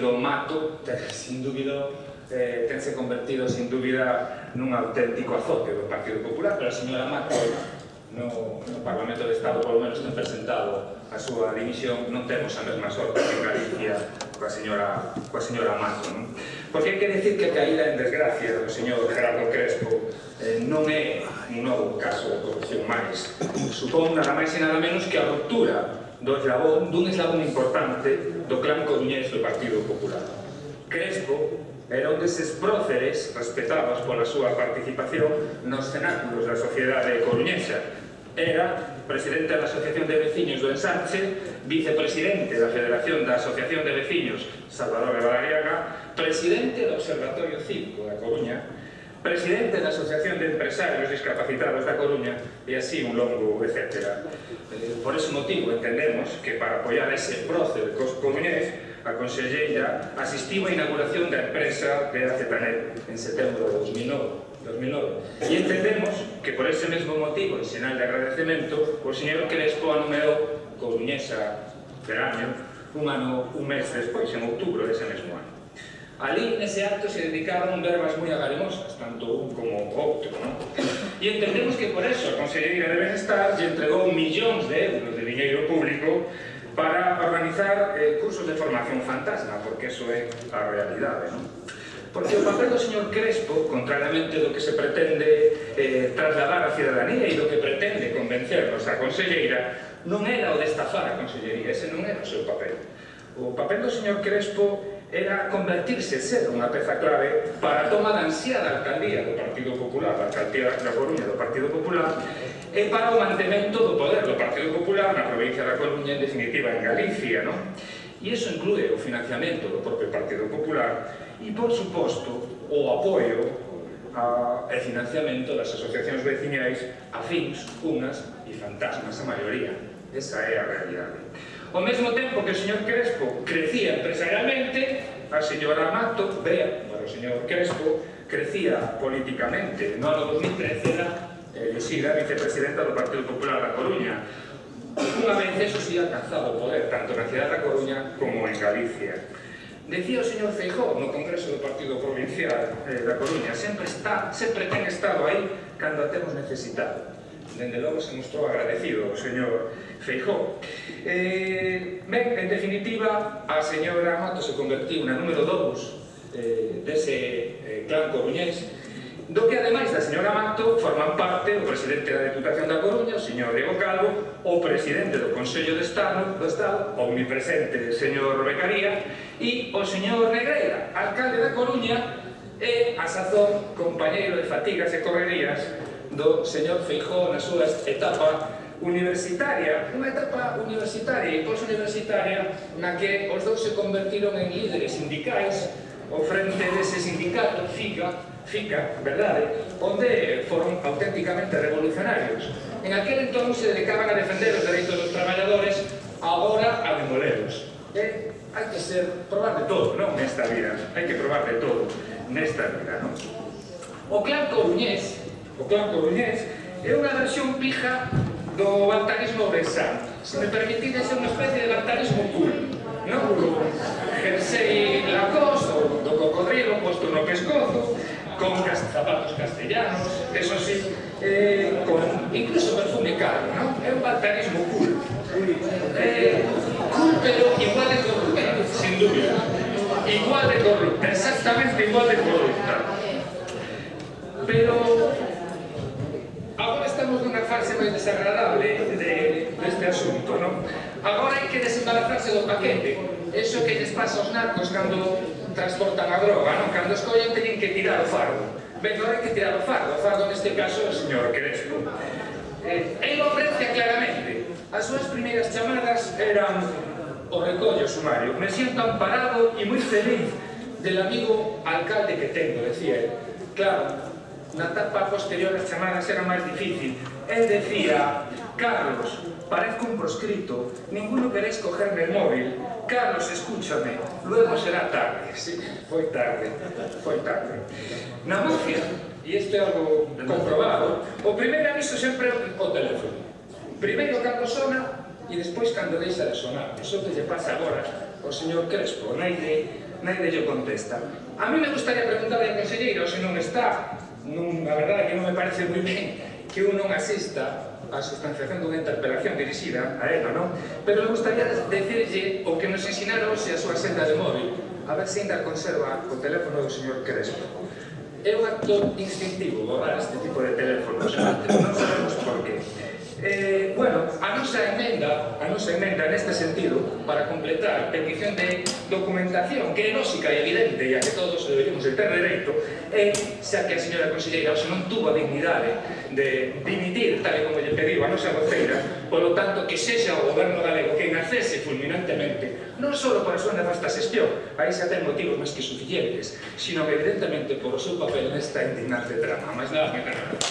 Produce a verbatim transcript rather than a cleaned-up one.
partido Mato, sin dúbida, eh, tense convertido, sin dúbida, nun auténtico azote do Partido Popular, pero a señora Mato, no, no Parlamento de Estado, polo menos, ten presentado a súa dimisión. Non temos a mesma sorte que en Galicia coa señora, coa señora Mato, non? Porque hai que decir que a caída en desgracia do señor Gerardo Crespo eh, non é un novo caso de corrupción máis. Supón nada máis e nada menos que a ruptura do eslabón, dun eslabón importante do clan coruñés do Partido Popular. Crespo era un deses próceres respetados pola súa participación nos cenáculos da sociedade coruñesa. Era presidente da Asociación de Veciños do Ensanche, vicepresidente da Federación da Asociación de Veciños Salvador de Valariaga, presidente do Observatorio Cívico da Coruña, presidente da Asociación de Empresarios Discapacitados da Coruña e así un longo etcétera. Por ese motivo entendemos que para apoiar ese prócer coruñés, a conselleira asistiu á inauguración da empresa de Acetanet en setembro de dos mil nove. E entendemos que por ese mesmo motivo, en sinal de agradecemento, o señor Crespo anumeou coruñesa Cerámeo un ano, un mes despois, en outubro dese mesmo ano. Ali, nese acto, se dedicaron verbas moi agarimosas, tanto un como o outro, non? E entendemos que por eso a Conselleira de Benestar lle entregou millóns de euros de diñeiro público para organizar eh, cursos de formación fantasma, porque eso é a realidade, non? Porque o papel do señor Crespo, contrariamente do que se pretende eh, trasladar á cidadanía e do que pretende convencernos a Conselleira, non era o de estafar a Consellería, ese non era o seu papel. O papel do señor Crespo era convertirse, ser unha peza clave para a toma da ansiada alcaldía do Partido Popular, a alcaldía da Coruña do Partido Popular, e para o mantemento do poder do Partido Popular na provincia da Coruña, en definitiva en Galicia, non? E iso inclúe o financiamento do propio Partido Popular e, por suposto, o apoio e financiamento das asociacións veciñais afíns, unas e fantasmas, a maioría. Esa é a realidade. Ao mesmo tempo que o señor Crespo crecía empresarialmente, a señora Mato, vea, para o señor Crespo, crecía políticamente. No ano dos mil trece era elixida vicepresidenta do Partido Popular da Coruña. Unha vez eso si alcanzado o poder, tanto na cidade da Coruña como en Galicia. Decía o señor Feijóo no Congreso do Partido Provincial eh, da Coruña, sempre está, sempre ten estado aí cando a temos necesitado. Dende logo se mostrou agradecido o señor Feijóo. Eh, ben, en definitiva, a señora Mato se convertiu na número dous eh, dese eh, clan coruñés, do que, ademais da señora Mato, forman parte o presidente da Deputación da Coruña, o señor Diego Calvo, o presidente do Consello de Estado, do Estado, o omnipresente señor Becaría, e o señor Negreira, alcalde da Coruña, e, a sazón, compañeiro de fatigas e correrías do señor Feijóo na súa etapa universitaria, unha etapa universitaria e posuniversitaria na que os dous se convertiron en líderes sindicais ao frente dese sindicato FICA, FICA, verdade, onde foron auténticamente revolucionarios. En aquel entón se dedicaban a defender os dereitos dos traballadores, agora a demoleros. E hai que ser, probar de todo, non, nesta vida, hai que probar de todo nesta vida, non? O clan coruñés O clan coruñés é unha versión pija do bantarismo ourensán. Se me permitides, é unha especie de bantarismo cool, non? O jersey Lacoste, do cocodrilo posto no pescozo, con zapatos castellanos, eso sí, eh, con incluso perfume caro, non? É un bantarismo cool. Eh, cool, pero igual de corrupta, sin dúbida. Igual de corrupta, exactamente igual de corrupta. Pero agora estamos nunha fase máis desagradable de, deste asunto, non? Agora hai que desembarazarse do paquete. Eso que lles pasa aos narcos cando transportan a droga, non? Cando escollen teñen que tirar o fardo. Ben, agora hai que tirar o fardo. O fardo neste caso é o señor Crespo. Eh, ele ofrece claramente. As súas primeiras chamadas eran o recollo sumario. Me siento amparado e moi feliz del amigo alcalde que tengo, decía ele. Claro, na etapa posterior as chamadas eran máis difícil. Él decía: Carlos, parezco un proscrito, ninguno queréis cogerme el móvil. Carlos, escúchame, luego será tarde. Sí, foi tarde, foi tarde. Na mafia, e isto é algo comprobado, o primeiro aviso sempre é o teléfono. Primeiro cando sona e despois cando deixa de sonar. Iso que lle pasa agora ao señor Crespo, naide nadie lle contesta. A mí me gustaría preguntarle ao conselleiro se non está, non, a verdade é que non me parece moi ben que un non asista a sustanciación dunha interpelación dirixida a ela, non? Pero me gustaría decirlle o que nos ensinaron hoxe a súa senda de móvil, a ver se ainda conserva o teléfono do señor Crespo. É un acto instintivo borrar este tipo de teléfonos, non sabemos por qué. Eh, bueno, a nosa emenda, a nosa emenda neste sentido, para completar petición de documentación, que é lógica e evidente, e a que todos deberíamos de ter dereito, é, xa que a señora conselleira hoxe non tuvo a dignidade de dimitir, tal e como lle pediu a nosa voceira, polo tanto, que sexa o goberno galego que nacese fulminantemente, non só por a súa nefasta xestión, aí xa ten motivos máis que suficientes, sino que evidentemente por o seu papel nesta indignante trama. Mais nada, me caramba.